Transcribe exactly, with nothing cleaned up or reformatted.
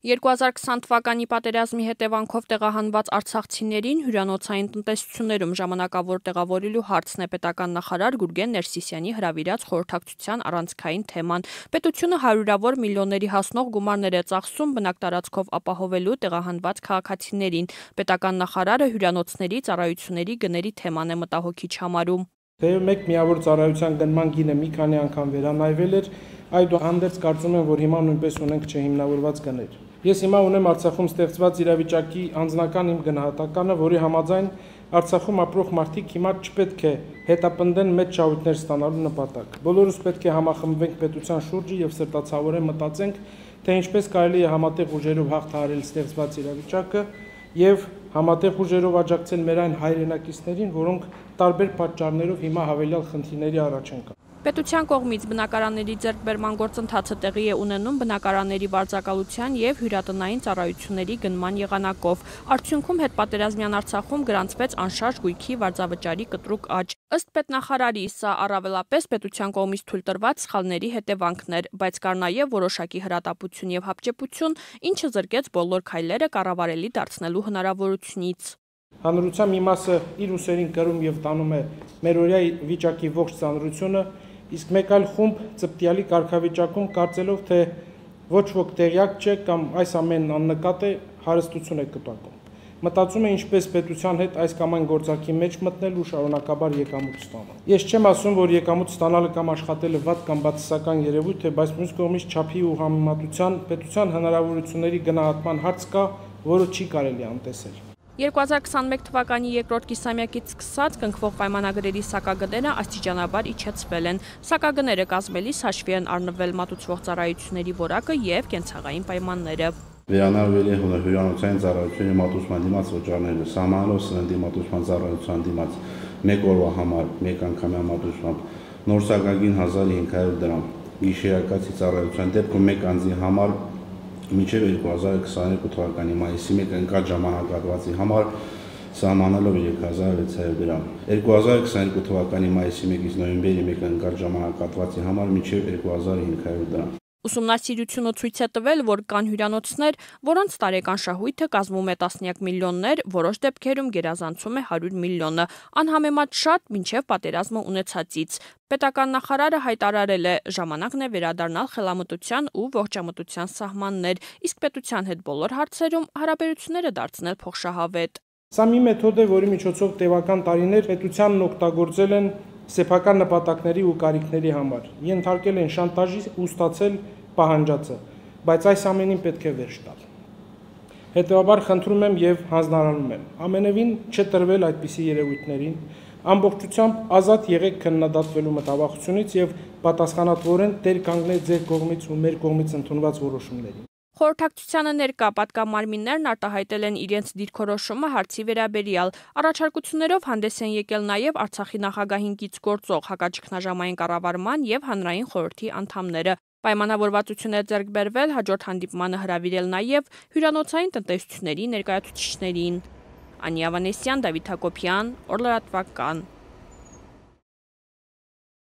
երկու հազար քսան թվականի պատերազմի հետևանքով տեղահանված արցախցիներին հյուրանոցային տնտեսություններում ժամանակավոր տեղավորելու հարցն է պետական նախարար Գուրգեն Ներսիսյանի հրավիրած խորհրդակցության առանցքային թեման։ Պետությունը հարյուրավոր միլիոնների հասնող գումարներ է ծախսում բնակտարածքով ապահովելու տեղահանված քաղաքացիներին։ Պետական նախարարը հյուրանոցների ծառայությունների գների թեման է մտահոգիչ համարում։ Թեև մեկ միավոր ծառայության գնման գինը մի քանի անգամ վերանայվել էր, այդուհանդերձ կարծում եմ, որ հիմա նույնպես ունենք չհիմնավորված գներ։ Ես հիմա ունեմ Արցախում ստեղծված իրավիճակի անձնական իմ գնահատականը, որի համաձայն Արցախում ապրող մարդիկ հիմա չպետք է հետապնդեն մեծ շահույթներ ստանալու նպատակ։ Բոլորս պետք է համախմբվենք պետության շուրջը եւ սրտացավորեն մտածենք, թե ինչպես կարելի է համատեղ ուժերով հաղթահարել ստեղծված իրավիճակը եւ համատեղ ուժերով աջակցել մեր այն հայրենակիցներին, որոնք տարբեր պատճառներով հիմա հավելյալ խնդիրների առաջ են կանգնել։ Պետության կողմից բնակարանների ձեռքբերման գործընթացը տեղի է ունենում բնակարանների վարձակալության եւ հյուրատնային ծառայությունների գնման եղանակով։ Արդյունքում հետպատերազմյան Արցախում գրանցվեց անշարժ գույքի վարձավճարի կտրուկ աճ։ Ըստ պետնախարարի, սա առավելապես պետության կողմից թույլ տրված սխալների հետևանքն էր, բայց կար նաեւ որոշակի հրատապություն եւ հապճեպություն, ինչը զրկեց բոլոր քայլերը կառավարելի դարձնելու հնարավորությունից։ Հանրության մի մասը իր ուսերին կրում եւ տանում է մերօրյա վիճակի ողջ ծանրությունը, իսկ մեկ այլ խումբ ծպտյալի կարգավիճակում կարծելով, թե ոչ ոք տեղյակ չէ կամ այս ամենն աննկատ է, հարստություն է կտակում։ Մտածում է ինչպես պետության հետ այս կամ այն գործակի մեջ մտնել ու շարունակաբար եկամուտ ստանալ։ Ես չեմ ասում, որ եկամուտ ստանալը կամ աշխատելը վատ կամ բացասական երևույթ է, բայց մյուս կողմից չափի ու համեմատության պետության հնարավորությունների գնահատման հարց կա, որը չի կարելի անտեսել։ երկու հազար քսանմեկ թվականի երկրորդ կիսամյակից սկսած կնքվող պայմանագրերի սակագները աստիճանաբար իջեցվել են։ Սակագները կազմելիս հաշվի են առնվել մատուցվող ծառայությունների որակը եւ կենցաղային պայմանները։ Վերանայվել է հյուրանոցային ծառայությունների մատուցման դիմաց վճարները, սահմանելով սննդի մատուցման ծառայության դիմաց մեկ օրվա համար մեկ անգամյա մատուցմամբ նոր սակագին հազար հինգ հարյուր դրամ, գիշերակացի ծառայության դեպքում մեկ անձի համար մինչև երկու հազար քսաներկու թվականի մայիսի մեկը ընկած ժամանակահատվածի համար սահմանելով երեք հազար վեց հարյուր դրամ։ երկու հազար քսաներկու թվականի մայիսի մեկից նոյեմբերի մեկը ընկած ժամանակահատվածի համար մինչև երկու հազար հինգ հարյուր դրամ։ Ուսումնասիրությունը ցույց է տվել, որ կան հյուրանոցներ, որոնց տարեկան շահույթը կազմում է տասնյակ միլիոններ, որոշ դեպքերում գերազանցում է հարյուր միլիոնը, անհամեմատ շատ մինչև պատերազմը ունեցածից։ Պետական նախարարը հայտարարել է, ժամանակն է վերադառնալ խելամտության ու ողջամտության սահմաններ, իսկ պետության հետ բոլոր հարցերում հարաբերությունները դարձնել փոխշահավետ։ Սա մի մեթոդ է, որի միջոցով տևական տարիներ պետությանն օգտագործել են սեփական նպատակների ու կարիքների համար, ենթարկել են շանտաժի ու ստացել պահանջածը, բայց այս ամենին պետք է վերջ տալ։ Հետևաբար խնդրում եմ եւ հանձնարարում եմ ամենևին չտրվել այդպիսի երևույթներին, ամբողջությամբ ազատ եղեք քննադատվելու մտավախությունից եւ պատասխանատվորեն տեր կանգնել ձեր կողմից ու մեր կողմից ընդունված որոշումներին։ Խորհրդակցությանը ներկա պատգամարմիններն արտահայտել են իրենց դիրքորոշումը հարցի վերաբերյալ։ Առաջարկություններով հանդես են եկել նաև Արցախի նախագահին կից գործող հակաճգնաժամային կառավարման եւ հանրային խորհրդի անդամները։ Պայմանավորվածություն է ձեռք բերվել հաջորդ հանդիպմանը հրավիրել նաև հյուրանոցային տնտեսությունների ներկայացուցիչներին։ Անի Ավանեսյան, Դավիթ Հակոբյան, Օր լրատվական։